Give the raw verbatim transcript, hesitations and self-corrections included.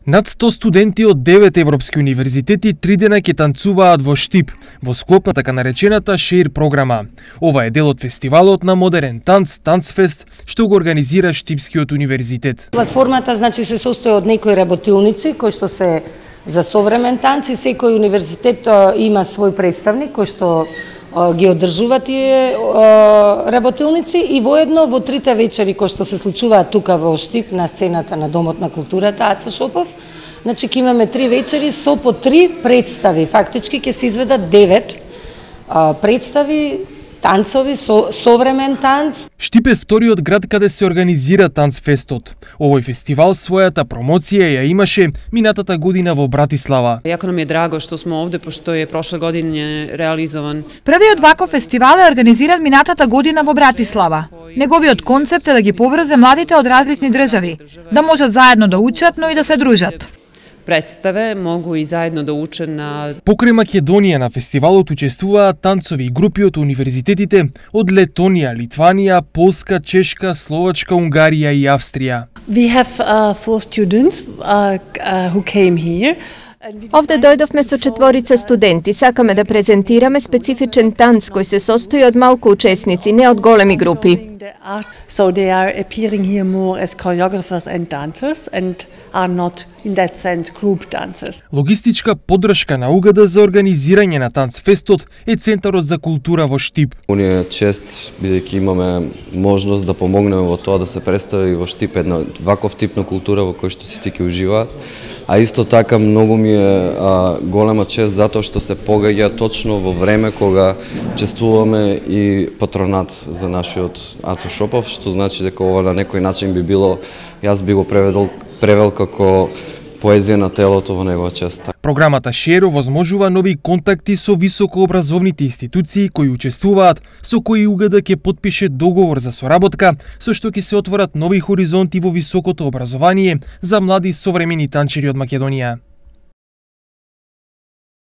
Над сто студенти од девет европски универзитети три дена ќе танцуваат во Штип, во склоп на така наречената Шеир програма. Ова е дел од фестивалот на модерен танц, Танцфест, што го организира Штипскиот универзитет. Платформата значи се состои од некои работилници кои што се за современ танц и секој универзитет има свој представник кој што ги одржува тие работилници и воедно во трите вечери кои што се случуваат тука во Штип на сцената на Домот на културата Ацо Шопов, значи ќе имаме три вечери со по три представи. Фактички ќе се изведат девет представи, танцови, со, современ танц. Штип е вториот град каде се организира Танцфестот. Овој фестивал својата промоција ја имаше минатата година во Братислава. Јако нам е драго што сме овде, пошто е прошла година реализован. Првиот ваков фестивал е организиран минатата година во Братислава. Неговиот концепт е да ги поврзе младите од различни држави, да можат заедно да учат, но и да се дружат. Представе могу и заедно да учат на... Покрај Македонија на фестивалот учествуваат танцови и групи од универзитетите од Летонија, Литванија, Полска, Чешка, Словачка, Унгарија и Австрија. We have uh, four students uh, uh, who came here. Овде дојдовме со четворица студенти. Сакаме да презентираме специфичен танц кој се состои од малку учесници, не од големи групи. So they are appearing here more as choreographers and dancers and are not in that sense group dancers. Логистичка поддршка на УГД за организирање на Танцфестот е Центарот за култура во Штип. Уни е чест бидејќи имаме можност да помогнеме во тоа да се представи во Штип една ваков тип на култура во кој што сите ќе уживаат. А исто така многу ми е а, голема чест затоа што се погаѓа точно во време кога чествуваме и патронат за нашиот Ацо Шопов, што значи дека ова на некој начин би било, јас би го преведол превел како поезија на телото во негова чест. Програмата Шеир овозможува нови контакти со високообразовните институции кои учествуваат, со кои УГД ќе потпише договор за соработка, со што ќе се отворат нови хоризонти во високото образование за млади современи танчери од Македонија.